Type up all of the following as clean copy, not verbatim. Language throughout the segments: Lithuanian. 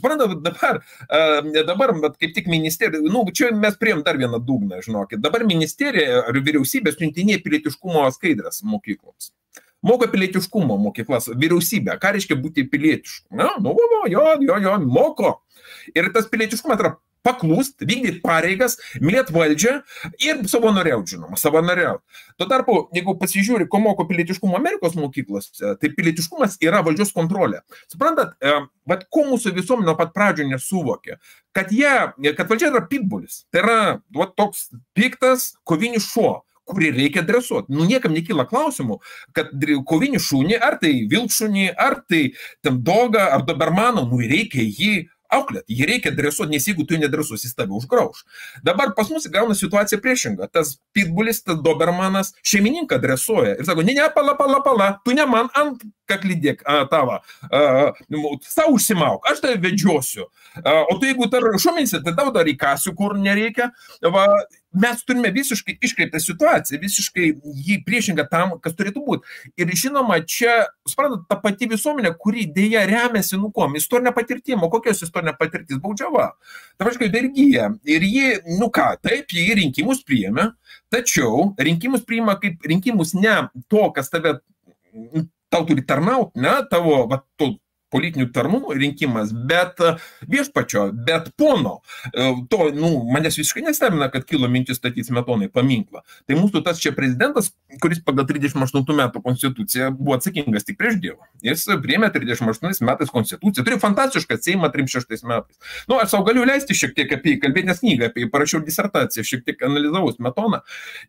Suprantat, dabar kaip tik ministerija, čia mes priėm dar vieną dugną, žinokit, dabar ministerija ar vyriausybė siuntinėja pilietiškumo skaidres mokykloms. Moko pilietiškumo mokyklas, vyriausybė. Ką reiškia būti pilietišku? Jo, moko. Ir tas pilietiškumas yra paklust, vykdyti pareigas, mylėti valdžią ir savanoriauti, žinoma, savanoriauti. Tuo tarpu, jeigu pasižiūri, ko moko pilietiškumo Amerikos mokyklose, tai pilietiškumas yra valdžios kontrolė. Suprantat, ko mūsų visuomenė nuo pat pradžių nesuvokė, kad valdžia yra pitbulis. Tai yra toks piktas kovinis šuo, kurį reikia dresuoti. Niekam nekyla klausimų, kad kovinį šunį, ar tai vilkšunį, ar tai dogą, ar dobermaną, reikia jį auklėt, jį reikia dresuoti, nes jeigu tu nedresuosi, jis tave užgrauš. Dabar pas mus gauna situacija priešinga. Tas pitbulis, tas dobermanas šeimininką dresuoja ir sako, pala, tu ne man ant kaklydėk tavą, savo užsimauk, aš tave vedžiosiu. O tu jeigu tar šuminsi, tai tau dar įkasiu, kur nereikia. Mes turime visiškai iškreiptą situaciją, visiškai jį priešingą tam, kas turėtų būti. Ir žinoma, čia, suprantat, ta pati visuomenė, kuri dėja remiasi nukom, istorinė patirtim, o kokios istorinė patirtis baudžiava. Ta paškai vergyja. Ir jie, taip, jie rinkimus priėmė, tačiau rinkimus priima kaip rinkimus ne to, kas tau turi tarnauti, ne tavo politinių tarnų rinkimas, bet viešpačio, bet pono. Manęs visiškai nestebina, kad kilo mintis statyti Smetonai paminklą. Tai mūsų tas čia prezidentas, kuris pagal 38 metų konstituciją buvo atsakingas tik prieš Dievą. Jis priėmė 38 metais konstituciją, turi fantastišką Seimą 36 metais. Aš savo galiu leisti šiek tiek apie jį, kalbėti, nes knygą apie jį parašiau disertaciją, šiek tiek analizavau Smetoną,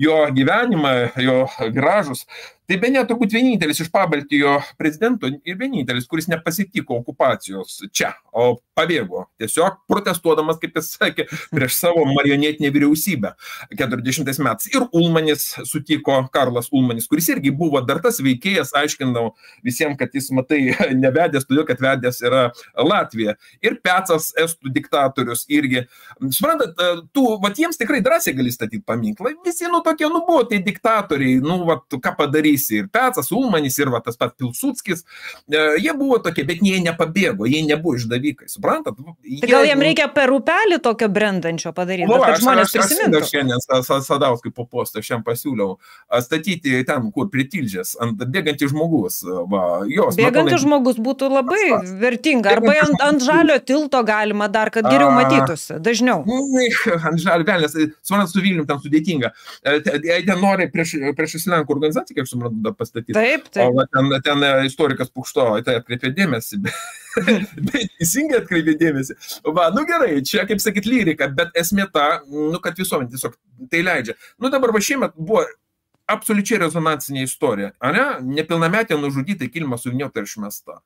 jo gyvenimą, jo viražus. Tai bene turbūt vienintelis iš Pabaltijo prezidentų ir vienintelis, kuris nepasitiko okupacijos čia, o pabėgo. Tiesiog protestuodamas, kaip jis sakė, prieš savo marionetinę vyriausybę 40 metais. Ir Ulmanis sutiko, Karlas Ulmanis, kuris irgi buvo dar tas veikėjas, aiškindavo visiems, kad jis, matai, nevedęs, todėl, kad vedęs yra Latvija. Ir Pecas, estų diktatorius irgi. Suprantat, jiems tikrai drąsiai gali statyti paminklą. Visi, tokie, buvo tai diktatoriai, ką padarys. Ir Pecas, Ulmanis, ir tas pats Pilsudskis, jie buvo tokie, bet jie nepabėgo, jie nebuvo išdavikai, suprantat? Tai gal jiem reikia per upelį tokio brendančio padaryti, kad žmonės prisimintų? Šiandien Sadauskui po postą šiam pasiūliau statyti ten, kur prie Tilžės, ant bėgantį žmogus. Bėgantis žmogus būtų labai vertinga, arba ant žalio tilto galima dar, kad geriau matytųsi, dažniau. Ant žalio, velnės, su Vilnium tam sudėtinga. Ten nori prieš Lenkų organizaciją, kaip suprantu, dar pastatyti. Taip. O ten istorikas Pukšto tai atkreipė dėmesį, bet teisingai atkreipė dėmesį. Gerai, čia, kaip sakyt, lyrika, bet esmė ta, kad visuomenė tiesiog tai leidžia. Dabar šiemet buvo absoliučiai rezonansinė istorija, nepilnametė nužudyta, kilma suviniota ir išmesta.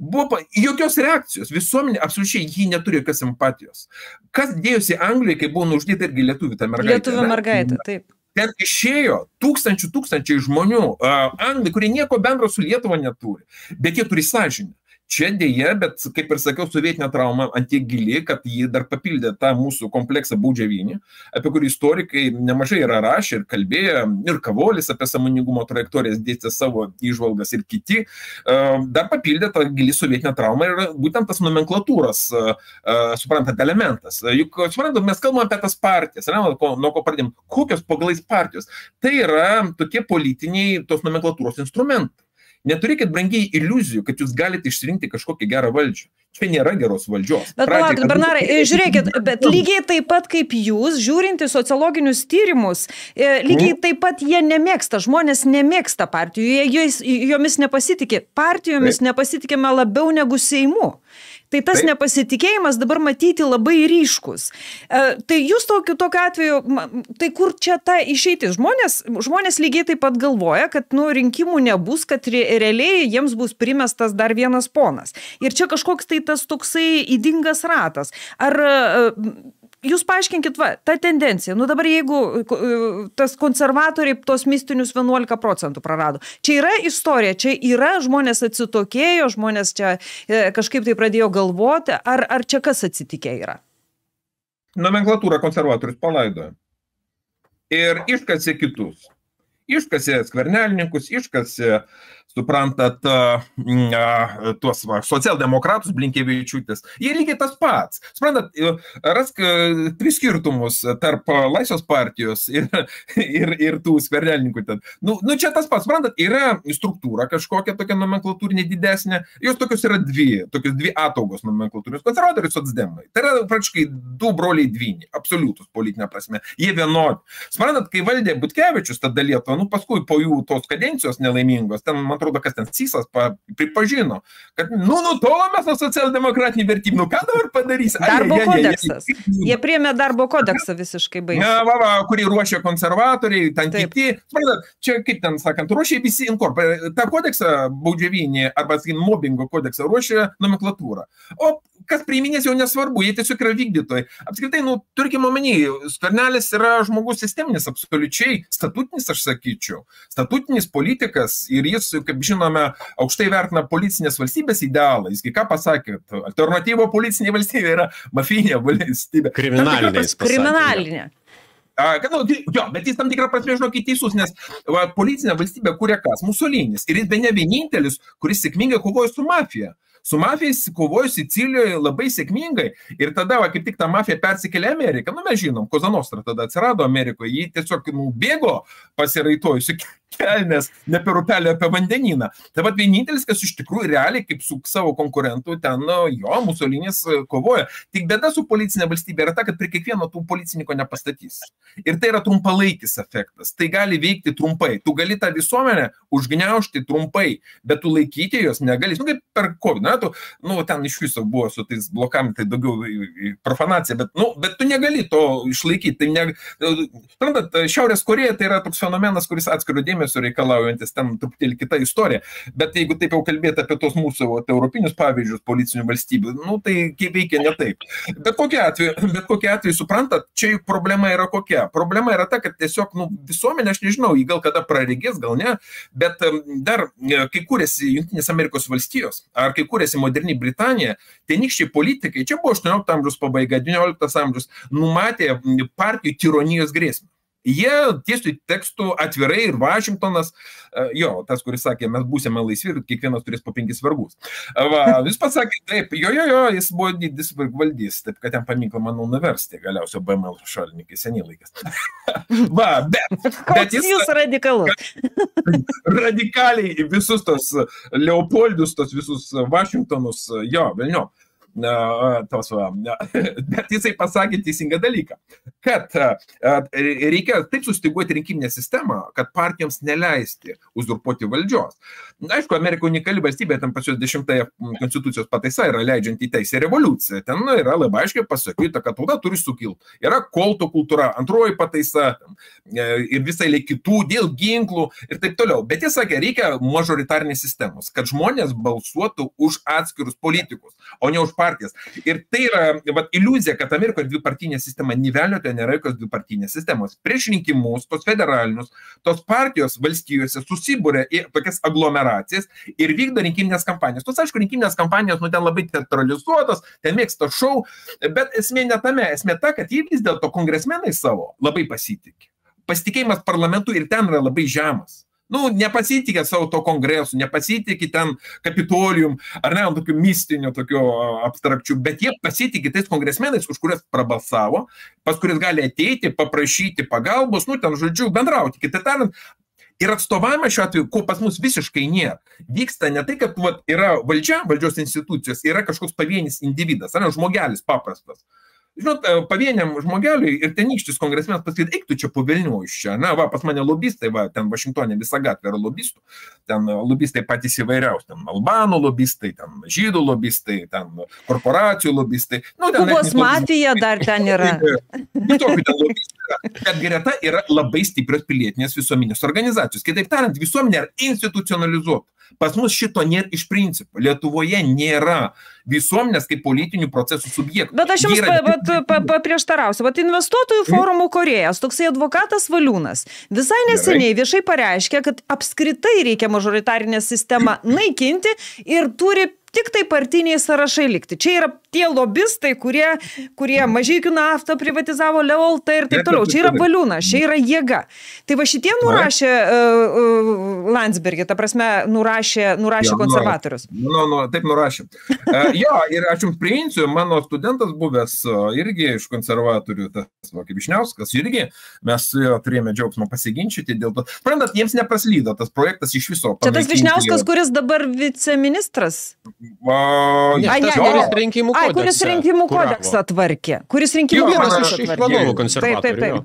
Buvo jokios reakcijos, visuomenė absoliučiai jį neturi jokios simpatijos. Kas dėjosi Anglijoje, kai buvo nužudyta irgi lietuvių ta mergaitė? Lietuvių mergaitė, taip. Ten išėjo tūkstančiai žmonių, anglai, kurie nieko bendro su Lietuva neturi, bet jie turi sąžinę. Čia dėja, bet, kaip ir sakiau, sovietinė trauma ant tiek gili, kad jį dar papildė tą mūsų kompleksą baudžiavinį, apie kurį istorikai nemažai yra rašę ir kalbėjo, ir Kavolis apie sąmoningumo trajektorijas dėstė savo įžvalgas ir kiti, dar papildė tą gilį sovietinę traumą ir būtent tas nomenklatūros, suprantat, elementas. Juk, suprantat, mes kalbame apie tas partijas, nuo ko pradėjom, kokios pagalais partijos. Tai yra tokie politiniai tos nomenklatūros instrumentai. Neturėkit brangiai iliuzijų, kad jūs galite išsirinkti kažkokią gerą valdžią. Čia nėra geros valdžios. Bet palaukit, Bernarai, žiūrėkit, bet lygiai taip pat kaip jūs, žiūrint į sociologinius tyrimus, lygiai taip pat jie nemėgsta, žmonės nemėgsta partijų, jie jomis nepasitikė. Partijomis nepasitikėme labiau negu Seimu. Tai tas nepasitikėjimas dabar matyti labai ryškus. Tai jūs tokiu atveju, tai kur čia ta išeitis? Žmonės lygiai taip pat galvoja, kad rinkimų nebus, kad realiai jiems bus primestas dar vienas ponas. Ir čia kažkoks tai tas toksai ydingas ratas. Ar jūs paaiškinkit, ta tendencija, dabar jeigu tas konservatoriai tos mistinius 11% prarado, čia yra istorija, čia yra žmonės atsitokėjo, žmonės čia kažkaip tai pradėjo galvoti, ar čia kas atsitikė yra? Nomenklatūra konservatorius palaidojo. Ir iškasė kitus. Iškasė skvernelininkus, iškasė suprantat, tuos socialdemokratus Blinkevičiūtės, jie lygiai tas pats. Suprantat, rask tris skirtumus tarp Laisvės partijos ir tų skvernelininkų ten. Nu, čia tas pats, suprantat, yra struktūra kažkokia tokia nomenklatūrinė didesnė, jos tokios yra dvi ataugos nomenklatūrinės, konservatoriai, socdemai. Tai yra praktiškai du broliai dvyniai, absoliutus politinė prasme, jie vienodi. Suprantat, kai valdė Butkevičius tada Lietuvą, nu paskui po jų tos kadencijos nelaimingos, ten, man atrodo, kas ten Sysas pripažino, kad, nutolome nuo socialdemokratinių vertybių, ką dabar padarys? Darbo kodeksas. Jie priėmė darbo kodeksą visiškai baisiai. Kurį ruošė konservatoriai, ten kiti. Suprantat, čia, kaip ten sakant, ruošė visi tą kodeksą baudžiavinį, arba, sakykim, mobbingo kodeksą ruošė nomenklatūrą. O kas priiminės jau nesvarbu, jie tiesiog yra vykdytojai. Apskritai, turkim omeny, Skvernelis yra žmogus sisteminis, absoliučiai statutinis, aš sakyčiau. Statutinis politikas ir jis, kaip žinome, aukštai vertina policinės valstybės idealą. Jis ką pasakė, alternatyvo policinė valstybė yra mafijinė valstybė. Kriminalinė. Jo, bet jis tam tikrą prasme, žinokit, teisus, nes policinė valstybė kuria kas? Musolinis. Ir jis bene vienintelis, kuris sėkmingai kovoja su mafija. Su mafija jis kovojo Sicilijoje labai sėkmingai ir tada, kaip tik ta mafija persikėlė Ameriką, mes žinom, Cosa Nostra tada atsirado Amerikoje, jį tiesiog bėgo pasiraitojusi kelnes, ne per upelį, apie vandenyną. Tai vat vienintelis, kas iš tikrųjų realiai, kaip su savo konkurentu, ten Musolinis kovoja. Tik bėda su policinė valstybė yra ta, kad prie kiekvieno tų policininko nepastatys. Ir tai yra trumpalaikis efektas. Tai gali veikti trumpai. Tu gali tą visuomenę užgniaužti trumpai, bet tu laikyti jos negali. Kaip per COVID, ten iš viso buvo su tais blokami, tai daugiau profanacija, bet tu negali to išlaikyti. Šiaurės Korėja tai yra toks fenomenas, kuris atskiro dėmesio reikalaujantis, ten truputėlį kita istorija. Bet jeigu taip jau kalbėti apie tos mūsų europinius pavyzdžius policinių valstybių, tai veikia ne taip. Bet kokiu atveju, suprantat, čia juk problema yra kokia? Problema yra ta, kad tiesiog visuomenė, aš nežinau, jį gal kada praregės, gal ne, bet dar kai kūrėsi Jungtinės Amerikos valstijos, ar kai kūrėsi moderni Britanija, tenykščiai politikai, čia buvo 18 amžiaus pabaiga, 19 amžius, numatė partijų tironijos grėsmę. Jie tiesių tekstų atvirai ir Vašingtonas, tas, kuris sakė, mes būsime laisvi ir kiekvienas turės po 5 vergus. Jis pasakė, taip, jis buvo didis valdys, taip, kad ten paminklą, manau, nuversti, galiausiai BML šalininkai seniai laikas. Bet jis radikalus. Radikaliai visus tos Leopoldus, tos visus Vašingtonus, velnio. Bet jisai pasakė teisingą dalyką, kad reikia taip sustiguoti rinkiminę sistemą, kad partijoms neleisti uzurpuoti valdžios. Aišku, Amerika unikali valstybė, ten pas jos 10-ąją konstitucijos pataisa yra leidžianti teisę revoliuciją. Ten yra labai aiškiai pasakyta, kad tauta turi sukilti. Yra kolto kultūra, antroji pataisa ir visai kitų dėl ginklų ir taip toliau. Bet jis sakė, reikia mažoritarinės sistemos, kad žmonės balsuotų už atskirus politikus, o ne už partijas. Ir tai yra iliuzija, kad Amerikoje dvipartinė sistema, nė velnio tai nėra jokios dvipartinės sistemos. Prieš rinkimus, tos federalinius, tos partijos valstijose susibūrė į tokias aglomeracijas ir vykdo rinkiminės kampanijas. Tos, aišku, rinkiminės kampanijos, ten labai teatralizuotos, ten mėgsta šou, bet esmė ne tame, esmė ta, kad jie vis dėlto kongresmenai savo labai pasitikė. Pasitikėjimas parlamentu ir ten yra labai žemas. Nepasitikė savo to kongresu, nepasitikė ten Kapitolijum, ar ne, tokių mistinių, tokių abstrakčių, bet jie pasitikė tais kongresmenais, už kurias prabalsavo, pas kuris gali ateiti, paprašyti pagalbos, ten žodžiu, bendrauti. Kitaip tariant, ir atstovavimą šiuo atveju, ko pas mus visiškai nėra. Vyksta ne tai, kad yra valdžia, valdžios institucijos, yra kažkoks pavienis individas, ar ne, žmogelis paprastas. Žinot, pavieniam žmogeliui ir tenykštis kongresmenas pasakyti, eik tu čia po velnių iš čia. Pas mane lobistai, ten Vašingtonė visa gatvė yra lobistų. Ten lobistai patys įvairiaus. Ten albanų lobistai, ten žydų lobistai, ten korporacijų lobistai. Kubos mafija dar ten yra. Kitokių ten lobistų yra. Bet greta yra labai stiprios pilietinės visuomenės organizacijos. Kitaip tariant, visuomenė yra institucionalizuota. Pas mus šito nėra iš principo. Lietuvoje nėra visuomenės kaip politinių procesų subjektų. Bet aš jums paprieštarausiu. Investuotojų forumų Korėjas, toksai advokatas Valiūnas, visai neseniai viešai pareiškė, kad apskritai reikia mažoritarinę sistemą naikinti ir turi tik tai partiniai sąrašai likti. Čia yra tie lobistai, kurie Mažeikių naftą privatizavo, Leolta ir taip toliau. Čia yra valiūnas, čia yra jėga. Tai va šitie nurašė Landsbergį, ta prasme, nurašė konservatorius. Taip nurašė. Jo, ir aš jums priminsiu, mano studentas buvęs irgi iš konservatorių, tas Vyšniauskas, irgi mes turėjome džiaugsmą pasiginčyti dėl to. Suprantat, jiems nepraslydo tas projektas iš viso. Čia tas Vyšniauskas, kuris dabar viceministras? Kuris rinkimų kodeksą tvarkė. Kuris rinkimų kodeksą iš vadovų konservatorių.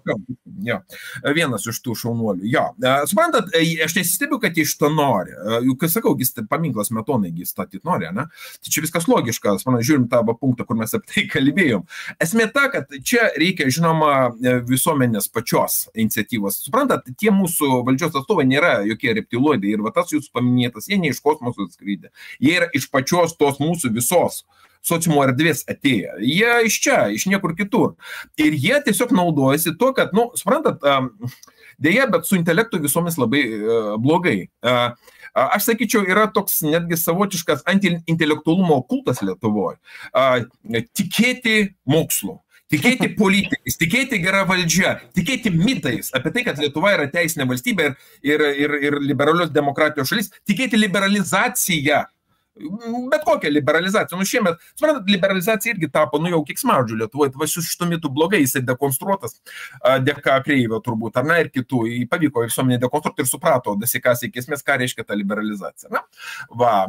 Vienas iš tų šaunuolių. Jo. Suprantat, aš nesistebiu, kad iš to nori. Juk, sakau, paminklas Smetonai statyti nori, ne? Tai čia viskas logiška. Žiūrim tą punktą, kur mes apie tai kalbėjom. Esmė ta, kad čia reikia, žinoma, visuomenės pačios iniciatyvos. Suprantat, tie mūsų valdžios atstovai nėra jokie reptiloidai. Ir va tas jūsų paminėtas, jie ne iš kosmoso atskridė. Jie yra iš pačios tos mūsų visos sociumo erdvės atėję. Jie iš čia, iš niekur kitur. Ir jie tiesiog naudojasi to, kad, suprantat, dėja, bet su intelektu visomis labai blogai. Aš sakyčiau, yra toks netgi savotiškas antiintelektualumo kultas Lietuvoje. Tikėti mokslu. Tikėti politikais, tikėti gera valdžia, tikėti mitais apie tai, kad Lietuva yra teisinė valstybė ir liberalios demokratijos šalis, tikėti liberalizaciją. Bet kokia liberalizacija. Šiemet, suprantat, liberalizacija irgi tapo, jau keiksmažodžiu Lietuvoje, va su šitų mitų blogai, jisai dekonstruotas dėka Kreivio turbūt, ar ne, ir kitų, pavyko visuomenė dekonstruoti ir suprato, dasikasi iki esmės, ką reiškia ta liberalizacija. Na? Va,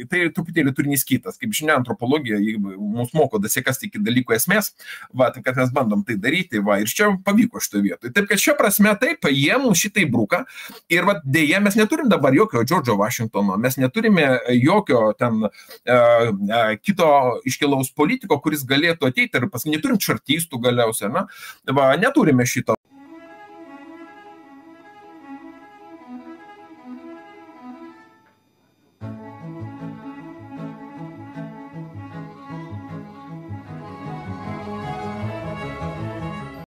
tai truputėlį turinys kitas, kaip žinia, antropologija mums moko dasikasti iki dalykų esmės, va, tai kad mes bandom tai daryti, va, ir čia pavyko šitoje vietoje. Taip, kad šia prasme taip, jie mums šitai bruka, ir va, dėja, mes neturim dabar jokio Džordžo Vašingtono, mes neturime jokio ten kito iškilaus politiko, kuris galėtų ateiti ir neturim čartistų galiausiai, neturime šito.